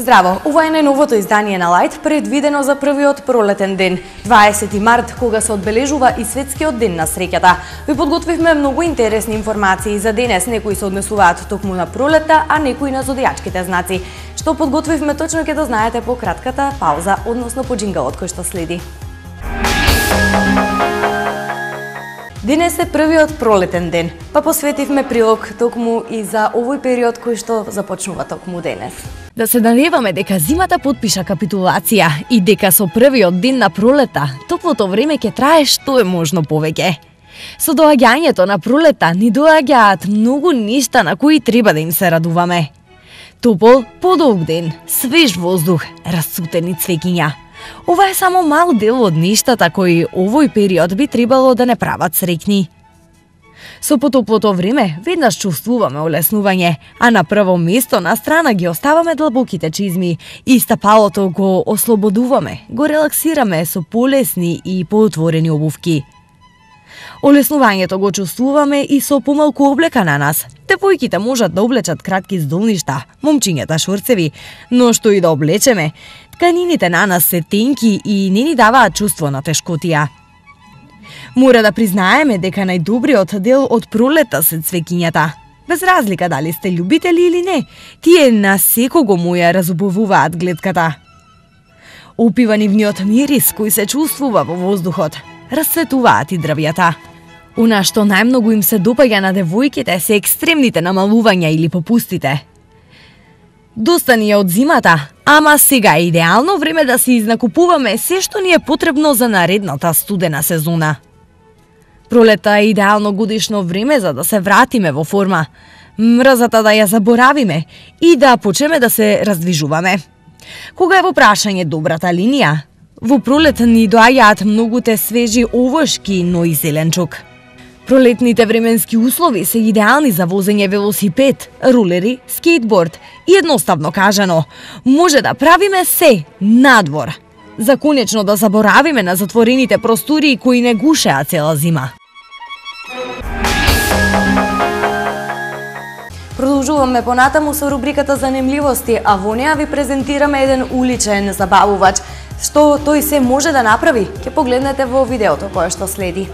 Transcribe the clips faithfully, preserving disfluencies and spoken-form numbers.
Здраво, ова е најновото издание на Лајт, предвидено за првиот пролетен ден, дваесети март, кога се одбележува и светскиот ден на среќата. Ви подготвивме многу интересни информации за денес, некои се однесуваат токму на пролета, а некои на зодијачките знаци. Што подготвивме точно ќе дознаете по кратката пауза, односно по джингалот кој што следи. Денес е првиот пролетен ден, па посветивме прилог токму и за овој период кој што започнува токму денес. Да се надеваме дека зимата потпиша капитулација и дека со првиот ден на пролета топлото време ќе трае што е можно повеќе. Со доаѓањето на пролета ни доаѓаат многу нешта на кои треба да им се радуваме. Топол, подолг ден, свеж воздух, расцутени цвеќиња. Ова е само мал дел од нештата кои овој период би требало да не прават среќни. Со потоплото време веднаш чувствуваме олеснување, а на прво место на страна ги оставаме длабоките чизми и стапалото го ослободуваме, го релаксираме со полесни и поотворени обувки. Олеснувањето го чувствуваме и со помалку облека на нас. Девојките можат да облечат кратки здолништа, момчињата шорцеви, но што и да облечеме, тканините на нас се тенки и не ни даваат чувство на тешкотија. Мора да признаеме дека најдобриот дел од пролета се цвеќињата. Без разлика дали сте љубители или не, тие на секого му ја разубавуваат глетката. Опива нивниот мирис кој се чувствува во воздухот. Расцветуваат и дрвјата. Она што најмногу им се допаѓа на девојките се екстремните намалувања или попустите. Доста ни е од зимата, ама сега е идеално време да си изнакупуваме се што ни е потребно за наредната студена сезона. Пролета е идеално годишно време за да се вратиме во форма, мрзата да ја заборавиме и да почнеме да се раздвижуваме. Кога е во прашање добрата линија, во пролет ни доаѓаат многуте свежи овошки, но и зеленчук. Пролетните временски услови се идеални за возење велосипед, рулери, скейтборд и едноставно кажано, може да правиме се надвор. За конечно да заборавиме на затворените простори кои не гушеа цела зима. Продолжуваме понатаму со рубриката Занимливости, а во неа ви презентираме еден уличен забавувач. Што тој се може да направи, ќе погледнете во видеото кое што следи.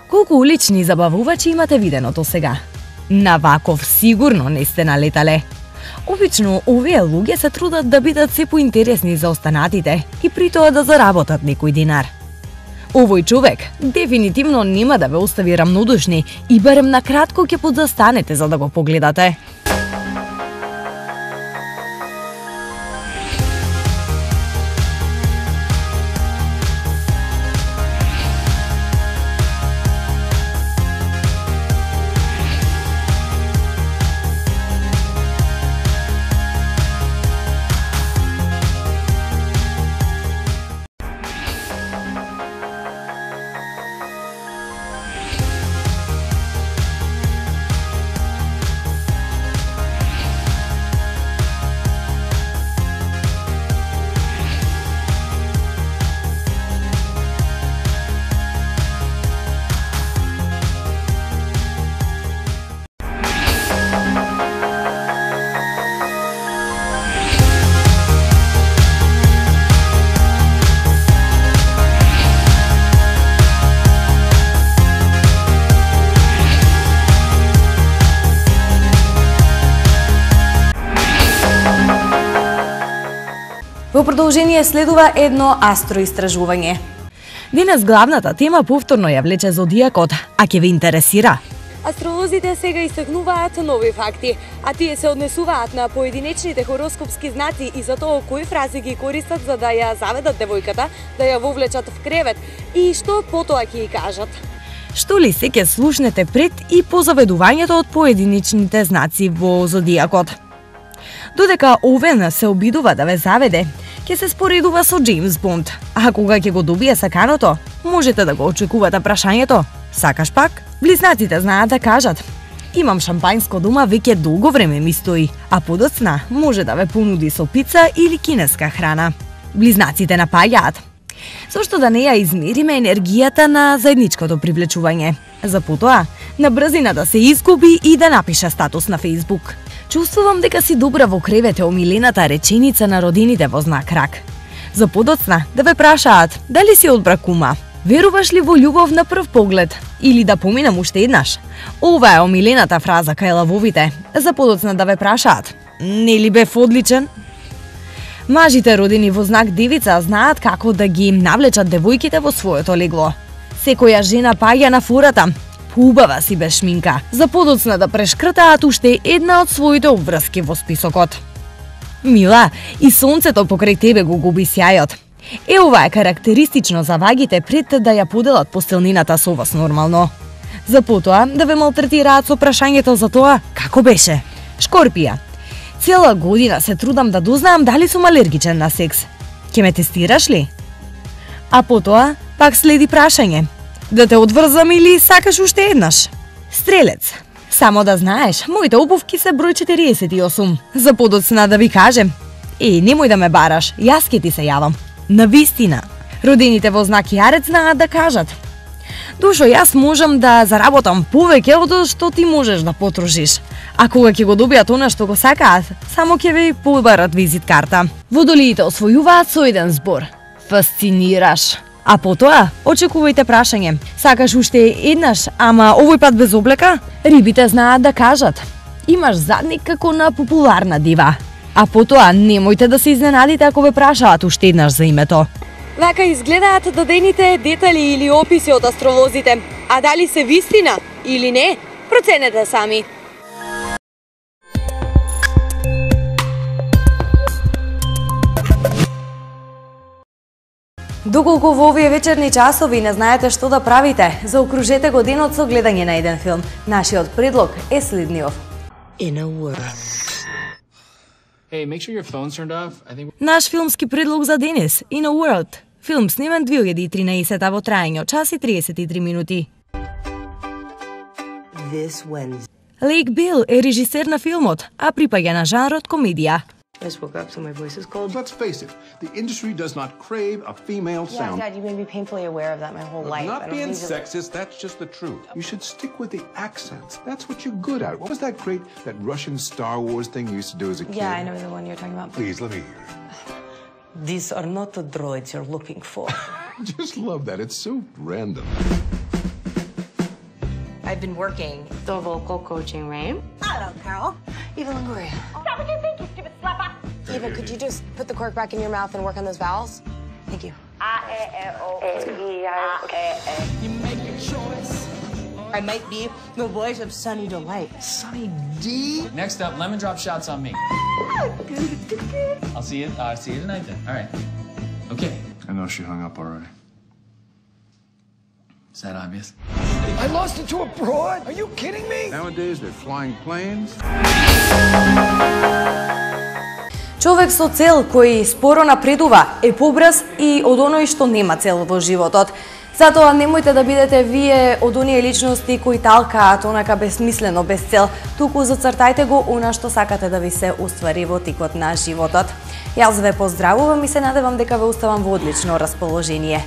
Колку улични забавувачи имате видено до сега? На ваков сигурно не сте налетале. Обично, овие луѓе се трудат да бидат се поинтересни за останатите и при тоа да заработат некој динар. Овој човек дефинитивно нема да ве остави рамнодушни и барем на кратко ќе подзастанете за да го погледате. Во продолжение следува едно астроистражување. Денес главната тема повторно ја влече зодијакот, а ќе ве интересира. Астролозите сега истакнуваат нови факти, а тие се однесуваат на поединечните хороскопски знаци и за тоа кои фрази ги користат за да ја заведат девојката, да ја вовлечат в кревет и што потоа ќе ја кажат. Што ли се ќе слушнете пред и по заведувањето од поединечните знаци во зодијакот? Додека Овен се обидува да ве заведе, ќе се споредува со Джеймс Бонд, а кога ќе го добие саканото, можете да го очекувате прашањето: сакаш пак? Близнаците знаат да кажат: имам шампањско дома, веќе долго време ми стои, а подоцна може да ве понуди со пица или кинеска храна. Близнаците напаѓаат: зошто да не ја измериме енергијата на заедничкото привлечување, за потоа на брзина да се изгуби и да напише статус на Facebook. Чувствувам дека си добра во кревет е омилената реченица на родините во знак рак. За подоцна да ве прашаат дали си од бракума. Веруваш ли во љубов на прв поглед? Или да поминам уште еднаш? Ова е омилената фраза кај лавовите. За подоцна да ве прашаат: нели бев одличен? Мажите родени во знак девица знаат како да ги навлечат девојките во своето легло. Секоја жена паѓа на фората: поубава си без шминка, за подоцна да прешкртаат уште една од своите обврски во списокот. Мила, и сонцето покрај тебе го губи сјајот. Е, ова е карактеристично за вагите пред да ја поделат постелнината со вас нормално. За потоа да ве малтретираат со прашањето за тоа како беше. Шкорпија. Цела година се трудам да дознаам дали сум алергичен на секс. Ке ме тестираш ли? А потоа пак следи прашање: да те одврзам или сакаш уште еднаш? Стрелец. Само да знаеш, моите обувки се број четириесет и осум. За подоцна да ви кажем: е, немој да ме бараш, јас ке ти се јавам. На вистина, родените во знак Јарец знаат да кажат: душо, јас можам да заработам повеќе од што ти можеш да потрошиш. А кога ќе го добијат она што го сакаат, само ќе ви побарат визит карта. Водолиите освојуваат со еден збор: фасцинираш. А потоа очекувајте прашање: сакаш уште еднаш, ама овој пат без облека? Рибите знаат да кажат: имаш задник како на популарна дива. А потоа немојте да се изненадите ако ве прашаат уште еднаш за името. Вака изгледаат дадените детали или описи од астролозите. А дали се вистина или не, проценете сами. Доколку во овие вечерни часови не знаете што да правите, заокружете го денот со гледање на еден филм. Нашиот предлог е следниот. In a world. Hey, make sure your phone's turned off. I think Наш филмски предлог за денес: In a World. Филм снимен две илјади и тринаесета во траење час и триесет и три минути. This Wednesday. Лейк Бил е режисер на филмот, а припаѓа на жанрот комедија. I just woke up, so my voice is cold. Let's face it, the industry does not crave a female Yeah, sound. Dad, you made me painfully aware of that my whole life. I Not don't being need to- sexist, that's just the truth. You should stick with the accents. That's what you're good at. What was that great, that Russian Star Wars thing you used to do as a kid? Yeah, I know the one you're talking about. Please, let me hear it. These are not the droids you're looking for. I just love that. It's so random. I've been working the vocal coaching, right? Hello, Carol. Eva Longoria. Stop what you think, you stupid slapper! Eva, could you just put the cork back in your mouth and work on those vowels? Thank you. A, E, I, O, E, I, E, E. You make your choice. I might be the voice of Sunny Delight. Sunny D? next up, lemon drop shots on me. I'll see you. Uh, see you tonight then. All right. Okay. I know she hung up already. Is that obvious? I lost it to a broad? Are you kidding me? Nowadays, they're flying planes. Човек со цел кој споро напредува е побрз и од оној што нема цел во животот. Затоа немојте да бидете вие од оние личности кои талкаат онака безсмислено, без цел, туку зацртајте го она што сакате да ви се уствари во тикот на животот. Јас ве поздравувам и се надевам дека ве оставам во одлично расположение.